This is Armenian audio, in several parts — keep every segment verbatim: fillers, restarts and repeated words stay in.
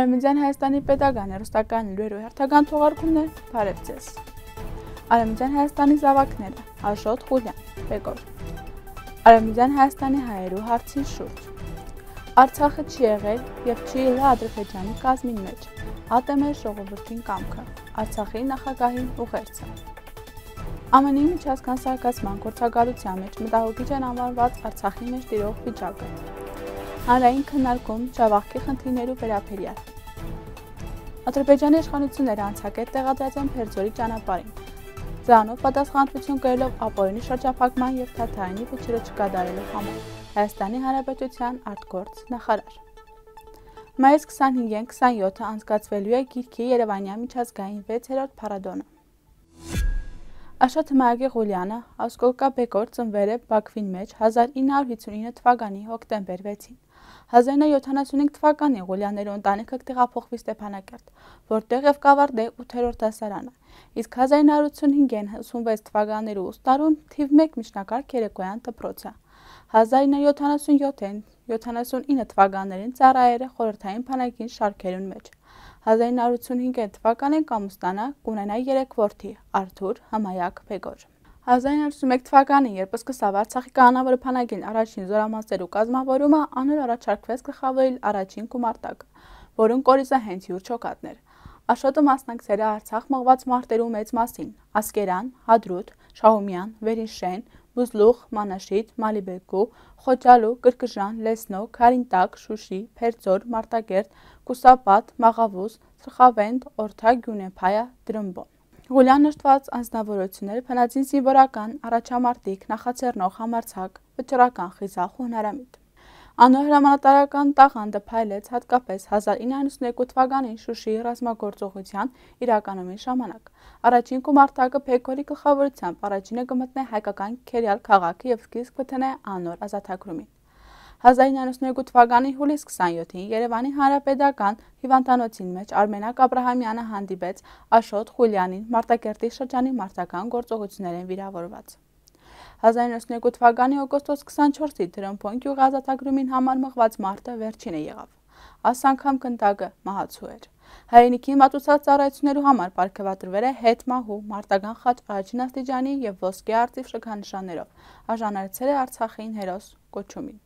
Արևմտյան Հայաստանի պետական հեռուստական լուրերու հերթական թողարկումներ, բարև ձեզ։ Արևմտյան Հայաստանի զավակները, Աշոտ Խուլյան, Բեկոր։ Արևմտյան Հայաստանի հայերու հարցի շուրջ։ Արցախը չի եղել եւ չի եղել Ադրբեջանի կազմին մեջ։ ԱՏՄ ժողովրդին կամքը, Արցախի նախագահին ուղերձը։ ԱՄՆ-ի միջազգային զարգացման գործակալության մեջ մտահոգիչ են անվանված Արցախի մեջ տիրող վիճակը։ Հանրային քննարկում Ջավախքի խնդիրներու վերաբերյալ։ Ադրբեջանի իշխանությունները անցակետ տեղադրած են Փերձորի ճանապարհին։ Դրանով պատասխանատվություն կրելով ապօրինի շրջափակման եւ Թաթարյանի վճիռը չկատարելու համար Հայաստանի Հանրապետության արտգործ նախարար։ Մայիսի քսանհինգին քսանյոթը անցկացվելու է Գիրքի Երևանյան միջազգային վեցերորդ փառատոնը։ Աշոտ Խուլյանը Ասկոլկա Բեկոր ծնվել է Բաքվին մեջ հազար ինը հարյուր հիսունինը թվականի հոկտեմբեր վեցին։ հազար ինը հարյուր յոթանասունհինգ թվականին Ղուլյաններու ընտանիքը տեղափոխվի Ստեփանակերտ, որտեղ եւ կավարտե ութերորդ դասարանը, իսկ հազար ինը հարյուր ութսունհինգ ութսունվեց թվականներու ուստարուն թիվ մեկ միջնակարգ երեկոյան դպրոցը։ հազար ինը հարյուր յոթանասունյոթ յոթանասունինը թվականներին ծառայել է խորհրդային բանակին շարքերուն մեջ։ հազար ինը հարյուր ութսունհինգ թվականին կամուստանա կունենա երեք որդի՝ Արթուր, Հմայակ, Բեկոր։ հազար ինը հարյուր ութսունմեկ թվականին, երբ սկսավ Արցախի կանոնավոր բանակին առաջին զորամասերու կազմավորումը, անոր առաջարկվեց գլխավորել առաջին գումարտակը, որուն կորիզը հենց յուր չոքատներ։ Աշոտը մասնակցել է Արցախ մղված մարտերու մեծ մասին՝ Ասկերան, Հադրութ, Շահումյան, Վերինշեն, Բուզլուխ, Մանաշիտ, Մալիբեկու, Խոճալու, Կրկժան, Լեսնո, Քարինտակ, Շուշի, Փերձոր, Մարտակերտ, Կուսապատ, Մաղավուս, Սրխավենդ, Օրթա, Գյունեփայա, Դրմբոն։ Ղուլյան նշտված անձնավորությունները փնածին զինվորական, առաջամարտիկ, նախաձեռնող համարձակ, վճռական, խիզախ ու հնարամիտ։ Անոր հրամանատարական տաղանդը փայլեց հատկապես հազար ինը հարյուր հիսունյոթ թվականին Շուշիի ռազմագործողության իրականումի ժամանակ։ Առաջին գումարտակը Բեկորի գլխավորությամբ առաջինը կմտնե հայկական Քերյալ քաղաքը եւ սկիզբ կտնե անոր ազատագրումին։ հազար ինը հարյուր հիսունյոթ թվականի հուլիսի քսանյոթին Երևանի Հանրապետական հիվանդանոցին մեջ Արմենակ Աբրահամյանը հանդիպեց Աշոտ Խուլյանին Մարտակերտի շրջանի մարտական գործողություններին վիրավորված։ հազար ինը հարյուր հիսունյոթ թվականի օգոստոս քսանչորսի Դրամփոն գյուղի ազատագրումին համար մղված մարտը վերջինը եղավ։ Այս անգամ կնդակը մահացու էր։ Հայրենիքի մատուցած ծառայություններու համար պարգևատրվել է հետմահու մարտական խաչ առաջին աստիճանի եւ ոսկե արծիվ շքանշաններով, արժանացել է Արցախին հերոս կոչումին։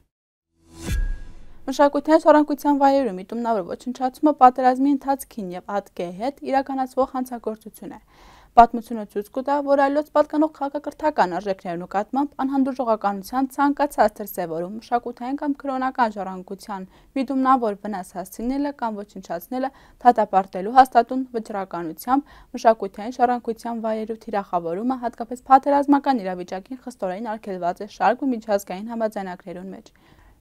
Մշակութային ժառանգության վայրերում միտումնավոր ոչնչացումը պատերազմի ընթացքին եւ ԱՏԿ-ի հետ իրականացվող հանցագործություն է։ Պատմությունը ցույց կտա, որ այլոց պատկանող քաղաքակրթական արժեքներու նկատմամբ անհանդուրժողականության ցանկացած դրսևորում մշակութային կամ քրոնական ժառանգության միտումնավոր վնաս հասցնելը կամ ոչնչացնելը դատապարտելու հաստատուն վճռականությամբ մշակութային ժառանգության վայրերու թիրախավորումը հատկապես պատերազմական իրավիճակին խստորեն արգելված է շարք ու միջազգային համաձայնագրերուն մեջ։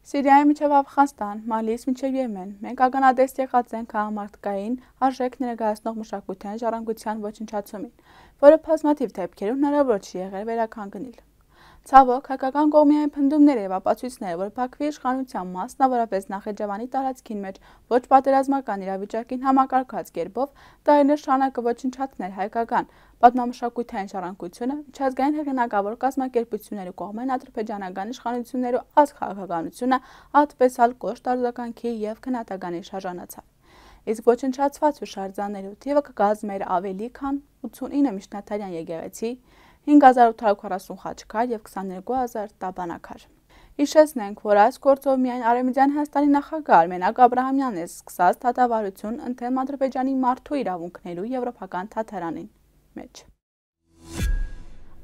Սիրիայի միջև Աֆղանստան, Մալից մինչև Եմեն, մենք ականատես եղած ենք քաղաքամարտկային արժեք ներկայացնող մշակութային ժառանգության ոչնչացումին, որը բազմաթիվ դեպքերում հնարավոր չի եղել վերականգնել։ Ցավոք, հայկական կողմի այն փնդումները եւ ապացույցները, որ Բաքվի իշխանության մասնավորապես Նախիջևանի տարածքին մեջ ոչ պատերազմական իրավիճակին համակարգած կերպով տարիներ շարունակ ոչնչացնել հայկական պատմամշակութային ժառանգությունը, միջազգային հեղինակավոր կազմակերպությունների կողմեն ադրբեջանական իշխանություններու ազգ քաղաքականությունը ատպես ալ կոշտ արձագանքի եւ քննադատականի շարժանացավ։ Իսկ ոչնչացված ու շարժաններու թիվը կկազմեր ավելի քան ութսունինը միջնադարյան եկեղեցի, հինգ հազար ութ հարյուր քառասուն խաչքար եւ քսաներկու հազար տաբանակար։ Հիշեցնենք, որ այս գործով միայն Արևմտյան Հայաստանի նախագահ Արմենակ Աբրահամյանն է սկսած դատավարություն ընդդեմ Ադրբեջանի մարդու իրավունքներու եվրոպական թաթարանին մեջ։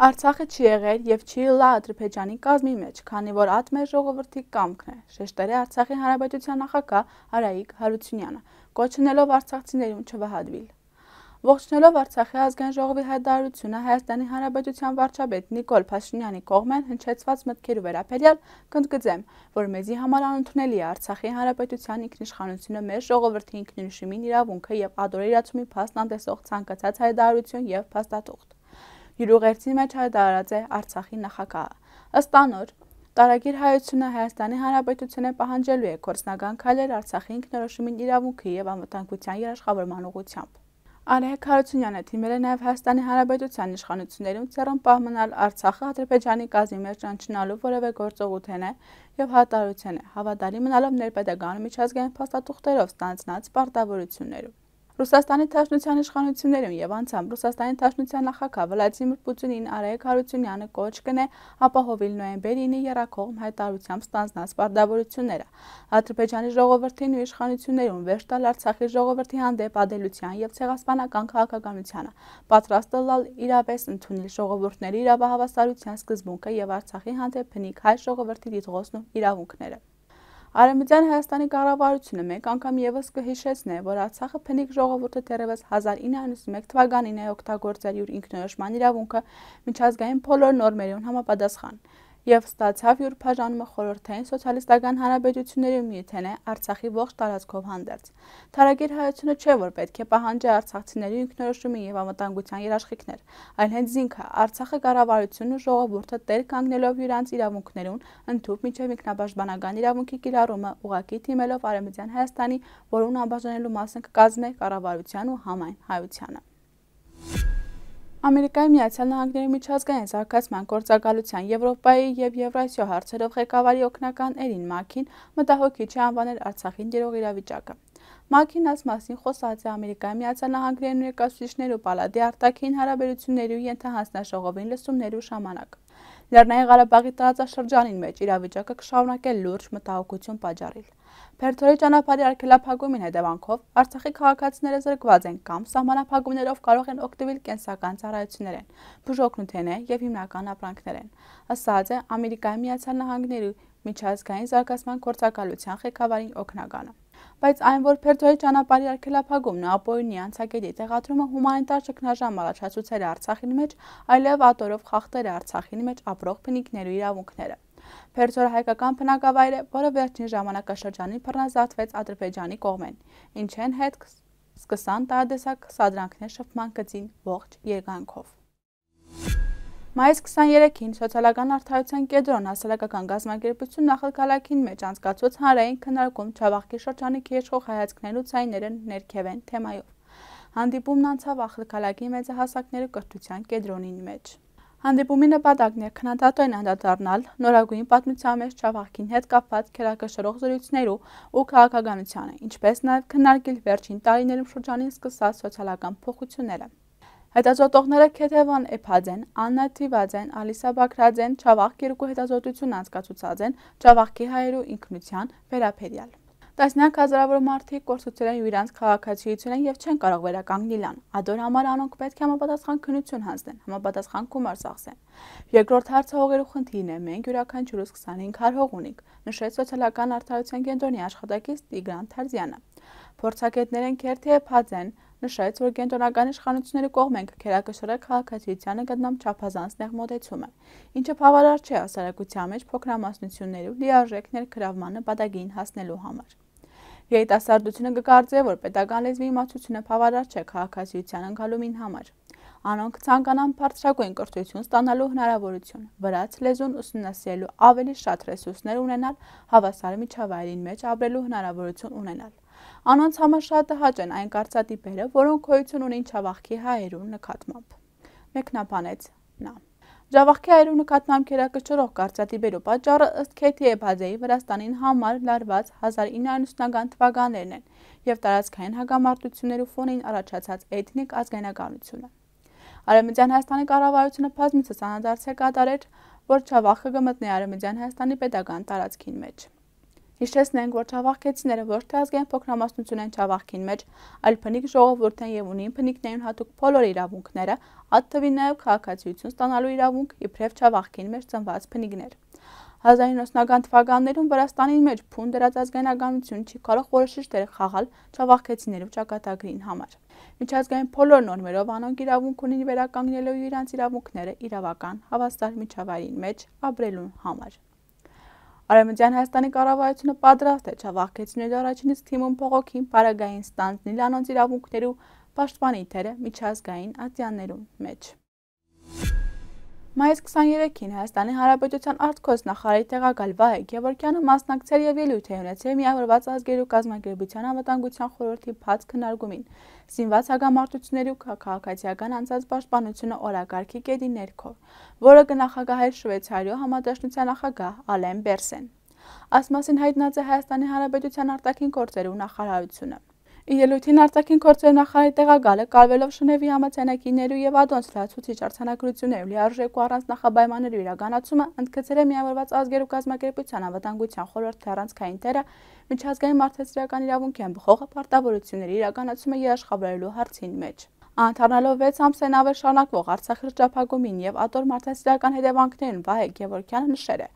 Արցախը չի եղել եւ չի ըլլա Ադրբեջանի կազմի մեջ, քանի որ ԱՏՄ ժողովրդի կամքն է, շեշտել է Արցախի Հանրապետության նախագահ Արայիկ Հարությունյանը, կոչնելով արցախցիներուն չվհատվել։ Ողջունելով Արցախի ազգային ժողովի հայտարարությունը Հայաստանի Հանրապետության վարչապետ Նիկոլ Փաշինյանի կողմեն հնչեցված մտքերու վերաբերյալ կընդգծեմ, որ մեզի համար անընդունելի է Արցախի Հանրապետության ինքնիշխանությունը մեր ժողովրդի ինքնիշխանության իրավունքը եւ ադորի իրացումի փաստ անտեսող ցանկացած հայտարարություն եւ փաստաթուղթ։ Յուրուղերձի մեջ հայտարարած է Արցախի նախագահը։ Ըստ անոր, տարագիր հայությունը Հայաստանի Հանրապետությունը պահանջելու է գործնական քայլեր Արցախի ինքնորոշումին իրավունքի եւ անվտանգության երաշխավորման ուղղությամբ։ Արեգ Հարությունյանը թիմել է նաև Հայաստանի Հանրապետության իշխանություններում ցեռում պահմանալ Արցախը Ադրբեջանի կազմի մեջ ճանաչնալու որևէ գործողություն է եւ հատարություն է, հավատալի մնալով ներպետական միջազգային փաստաթուղթերով ստանձնած պարտավորություններում։ Ռուսաստանի Դաշնության իշխանություններում եւ անցամ Ռուսաստանի Դաշնության նախագահ Վլադիմիր Պուտինին Արեգ Հարությունյանը կոչ կնե ապահովել նոյեմբերի ինը եռակողմ հայտարարությամբ ստանձնած պարտավորությունները Ադրբեջանի ժողովրդին ու իշխանություններում վերջ տալ Արցախի ժողովրդի հանդեպ ադելության եւ ցեղասպանական քաղաքականությանը, պատրաստ լալ իրավես ընդունել ժողովուրդների իրավահավասարության սկզբունքը եւ Արցախի հանդեպ բնիկ հայ ժողովրդի դիտողոցն ու իրավունքները։ Արևմտյան Հայաստանի կառավարությունը մեկ անգամ եւս կհիշեցնե, որ Արցախը բնիկ ժողովուրդը դեռևս հազար ինը հարյուր ութսուն մեկ թվականին է օգտագործել իր ինքնորոշման իրավունքը միջազգային բոլոր նորմերուն համապատասխան եւ ստացավ յուր բաժանումը խորհրդային սոցիալիստական հանրապետությունների միութենե Արցախի ողջ տարածքով հանդերձ։ Թարագիր հայությունը չէ, որ պետք է պահանջի արցախցիների ինքնորոշումի եւ անվտանգության երաշխիքներ, այլ հենց ինքը Արցախը կառավարությունն ու ժողովուրդը տեր կանգնելով իրանց իրավունքներուն ընդཐུպ միջև ինքնապաշտպանական իրավունքի կիրառումը ուղղակի թիմելով Արևմտյան Հայաստանի, որուն անբաժանելու մասն կկազմի կառավարության ու համայն հայությանը։ Ամերիկայի Միացյալ Նահանգների միջազգային զարգացման գործակալության Եվրոպայի եւ Եվրասիա հարցերով ղեկավարի օգնական Էրին Մաքին մտահոգիչ է անվանել Արցախին դերող իրավիճակը։ Մաքին այս մասին խոսած է Ամերիկայի Միացյալ Նահանգների ներկայացուցիչներու պալատի արտաքին հարաբերությունների ու ենթահանձնաժողովին լսումներու ժամանակ։ Լեռնային Ղարաբաղի տարածաշրջանին մեջ իրավիճակը կշարունակել լուրջ մտահոգություն պատճառել։ Փերթորի ճանապարհի արգելափակումին հետևանքով Արցախի քաղաքացիները զրկված են կամ սահմանափակումներով կարող են օգտվել կենսական ծառայություններեն, բուժօգնութենեն եւ հիմնական ապրանքներեն, ասաց է Ամերիկայի Միացյալ Նահանգների միջազգային զարգացման գործակալության ղեկավարի օգնականը։ Բայց այն, որ Փերթորի ճանապարհի արգելափակումն ու ապօրինի անցակետի տեղադրումը հումանիտար ճգնաժամ առաջացուցել է Արցախին մեջ, այլև ատորով խախտել է Արցախին մեջ ապրող բնիկներու իրավունքները։ Փերթորը հայկական բնակավայր է, որը վերջին ժամանակաշրջանին բռնազավթվեց Ադրբեջանի կողմեն, ինչեն հետ սկսան տարատեսակ սադրանքներ շփման գծին ողջ երկայնքով։ Մայիս քսաներեքին Սոցիալական արդարության կենտրոն հասարակական գազམ་ակերպություն նախագահային մեջ անցկացուց հանրային քննարկում Չավախքի շրջանի քիեշխող հայացքներու ցայները ներքևեն թեմայով։ Հանդիպումն անցավ ախալքալակի մեծահասակներու կրթության կենտրոնին մեջ։ Հանդիպումի նպատակն էր քննադատորեն անդրադառնալ նորագույն պատմության մեջ Չավախքին հետ կապված քերակշռող զրույցներու ու քաղաքականությանը, ինչպես նաև քննարկել վերջին տարիներում շրջանին սկսած սոցիալական փոփոխությունները։ Հետազոտողները Քեթևան Էփաձեն, Աննա Թիվաձեն, Ալիսա Բաքրաձեն Չավախք երկու հետազոտություն անցկացուցած են Չավախքի հայերու ինքնության վերաբերյալ։ Տասնյակ հազարավոր մարդիկ կորցուցել են իրանց քաղաքացիությունը եւ չեն կարող վերականգնել ան։ Ադոր համար անոնք պետք է համապատասխան քննություն հանձնեն, համապատասխան գումար ծախսեն։ Երկրորդ հարցը հողերու խնդիրն է, մենք յուրաքանչյուրս քսանհինգ հար հող ունենք, նշեց Սոցիալական արդարության կենտրոնի աշխատակից Տիգրան Թարզյանը։ Փորձագետներն Քերթի Էփաձեն նշեց, որ կենտրոնական իշխանությունների կողմեն քերակշռել քաղաքացիությանը գտնամ չափազանց նեղ մոտեցումը, ինչը բավարար չէ հասարակության մեջ փոքրամասնություններու լիարժեք ներգրավման նպատակին հասնելու համար։ Երիտասարդությունը կկարծե, որ պետական լեզվի իմացությունը բավարար չէ քաղաքացիության ընկալումին համար։ Անոնք ցանկանան բարձրագույն կրթություն ստանալու հնարավորություն, վրաց լեզուն ուսումնասիրելու ավելի շատ ռեսուրսներ ունենալ, հավասար միջավայրին մեջ ապրելու հնարավորություն ունենալ։ Անոնց համար շատ տհաճ են այն կարծատիպերը, որոնք գոյություն ունեն Չավախքի հայերու նկատմամբ։ Մեկնաբանեց նա։ Չավախքի հայերու նկատմամբ քերակշռող կարծատիպերու պատճառը ըստ Քեթի Էփաձեի Վրաստանին համար լարված հազար ինը հարյուր ութսուն թվականներն են եւ տարածքային հակամարտություններու ֆոնին առաջացած էթնիկ ազգայնականությունը։ Արևմտյան Հայաստանի կառավարությունը բազմիցս անդրադարձ է կատարել, որ Չավախքը կմտնի Արևմտյան Հայաստանի պետական տարածքին մեջ։ Հիշեցնենք, որ Չավախքեցիները ոչ թե ազգային փոքրամասնություն են Չավախքին մեջ, այլ բնիկ ժողովուրդ են եւ ունին բնիկներին հատուկ բոլոր իրավունքները, այդ թվին նաեւ քաղաքացիություն ստանալու իրավունք, իբրև Չավախքին մեջ ծնված բնիկներ։ հազար ինը հարյուր ութսուն թվականներում Վրաստանի մեջ փուն դրած ազգայնականություն չի կարող որոշիչ դեր խաղալ Չավախքեցիներու ճակատագրին համար։ Միջազգային բոլոր նորմերով անոնք իրավունք ունին վերականգնելու իրենց իրավունքները իրավական հավասար միջավայրին մեջ ապրելու համար։ Արևմտյան Հայաստանի կառավարությունը պատրաստ է Չավախքեցիների առաջինից թիմում փողոքին պարագային ստանձնել անոնց իրավունքներու պաշտպանի թերը միջազգային ատյաններու մեջ։ Մայիսի քսաներեքին Հայաստանի Հանրապետության արտգործնախարար նախարարի տեղակալ Վահե Գևորգյանը մասնակցել եւ ելույթ է ունեցել Միավորված ազգերի ու կազմակերպության անվտանգության խորհրդի բաց քննարկումին, զինված հագամարտությունների ու քաղաքացիական անձանց պաշտպանությունը օրակարգի կետի ներքո, որը կնախագահեր Շվեյցարիոյ համադաշնության նախագահ Ալեն Բերսեն։ Այս մասին հայտնած է Հայաստանի Հանրապետության արտաքին գործերի նախարարությունը։ Ելույթին արտաքին գործերի նախարարի տեղակալը կալվելով Շնևի համաձայնագիրներու եւ ադոնց լրացուցիչ արձանագրություններու լիարժեք ու առանց նախաբայմաններու իրականացումը ընդգծել է Միավորված ազգերի ու կազմակերպության անվտանգության խորհրդի առանցքային դերը միջազգային մարդասիրական իրավունքյան բխող պարտավորությունների իրականացումը երաշխավորելու հարցին մեջ։ Անդառնալով վեց ամսեն ավել շարունակվող Արցախի շրջափակումին եւ ատոր մարդասիրական հետևանքներին Վահե Գևորգյանը նշել է,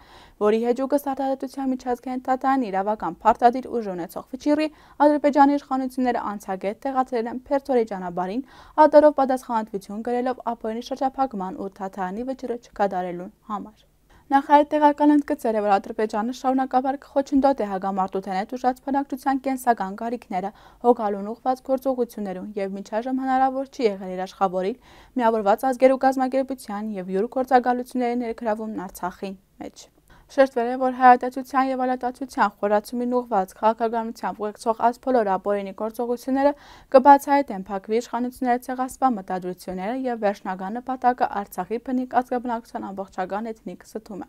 որի հեճուկս արտադրության միջազգային դատարանի իրավական փարտադիր ուժ ունեցող վճիռի Ադրբեջանի իշխանությունները անցագետ տեղադրել են Փերթորի ճանապարհին, ատորով պատասխանատվություն գրելով ապօրինի շրջափակման ու դատարանի վճիռը չկատարելու համար։ Նախարարի տեղակալը ընդգծել է, որ Ադրբեջանը շարունակաբար կխոչընդոտի է հագամարտության հետ ուժած բնակչության կենսական կարիքները հոգալուն ուղղված գործողություններում եւ մինչաժամ հնարավոր չի եղել երաշխավորել Միավորված ազգերի ու կազմակերպության եւ յուր գործակալությունների ներգրավումն Արցախի մեջ։ Շեշտվել է, որ հայատացության եւ ալատացության խորացումին ուղղված քաղաքականությամբ ուղեկցող այս բոլոր ապօրինի գործողությունները կբացահայտեն Բաքվի իշխանությունների ցեղասպան մտադրությունները եւ վերջնական նպատակը Արցախի բնիկ ազգաբնակչության ամբողջական էթնիկ ստումը։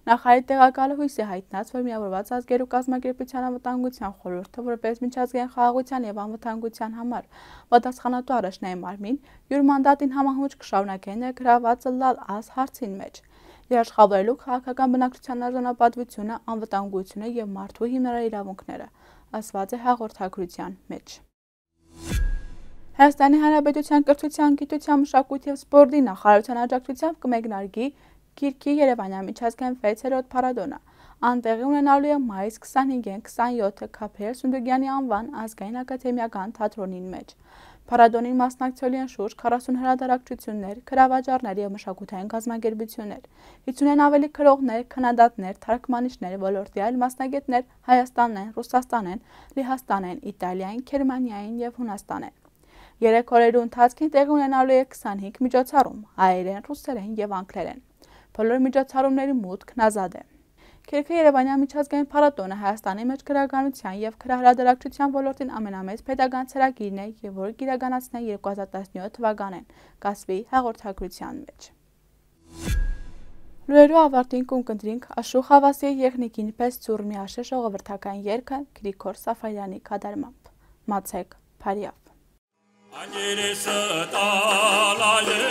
Նախարարի տեղակալը հույս է հայտնած, որ Միավորված ազգերի ու կազմակերպության անվտանգության խորհուրդը որպես միջազգային խաղաղության եւ անվտանգության համար պատասխանատու առաջնային մարմին յուր մանդատին համահունչ կշարունակի ներգրավվածը լալ այս հարցին մեջ։ Երաշխավորելու քաղաքական բնակչության արժանապատվությունը, անվտանգությունը եւ մարդու հիմնարար իրավունքները, ասված է հաղորդագրության մեջ։ Հայաստանի Հանրապետության կրթության, գիտության, մշակույթի եւ սպորտի նախարարության աջակցությամբ կմեկնարկի Գիրքի Երևանյան միջազգային վեցերորդ փառատոնը։ Անտեղի ունենալու է մայիսի քսանհինգին քսանյոթը Քափեր Սունդուգյանի անվան ազգային ակադեմիական թատրոնին մեջ։ Փառատոնին մասնակցելու են շուրջ քառասուն հրատարակչություններ, գրավաճառներ եւ մշակութային կազմակերպություններ, հիսունին ավելի քրողներ, քննադատներ, թարգմանիչներ, ոլորտի այլ մասնագետներ Հայաստանեն, Ռուսաստանեն, Լեհաստանեն, Իտալիային, Գերմանիային եւ Հունաստանեն։ Երեք օրերու ընթացքին տեղի ունենալու է քսանհինգ միջոցառում՝ հայերեն, ռուսերեն եւ անգլերեն։ Բոլոր միջոցառումների մուտքն ազատ է։ Գիրքը Երևանյան միջազգային փառատոնը Հայաստանի մեջ գրականության եւ գրահրատարակչության ոլորտին ամենամեծ պետական ցուցակիրն է եւ որը կիրականացնի երկու հազար տասնյոթ թվականին, կասվի հաղորդագրության մեջ։ Լուրերու ավարտին կընտրենք Աշուխ Ավասիի եղնիկին պես ծուռ միաշե ժողովրդական երգը Գրիգոր Սաֆարյանի կատարմամբ։ Մացեք Փարիավ։ Անգերեսը տալայե,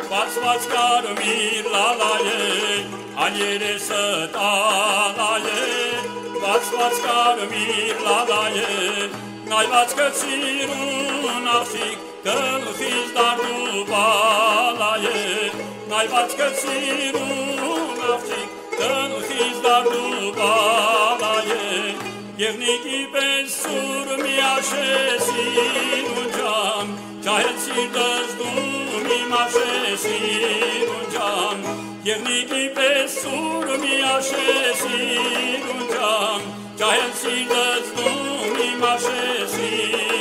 բացված կարմիր լալայե, անգերեսը տալայե, բացված կարմիր լալայե, նայված կծիրուն աղջիկ գլխից դարդու բալայե, նայված կծիրուն աղջիկ գլխից դարդու բալայե, եղնիկի պես սուր միաշեսին ունջամ, ճահել սիրտս դու մի մաշեսին ունջամ, եղնիկի պես սուր միաշեսին ունջամ, ճահել սիրտս դու մի մաշեսին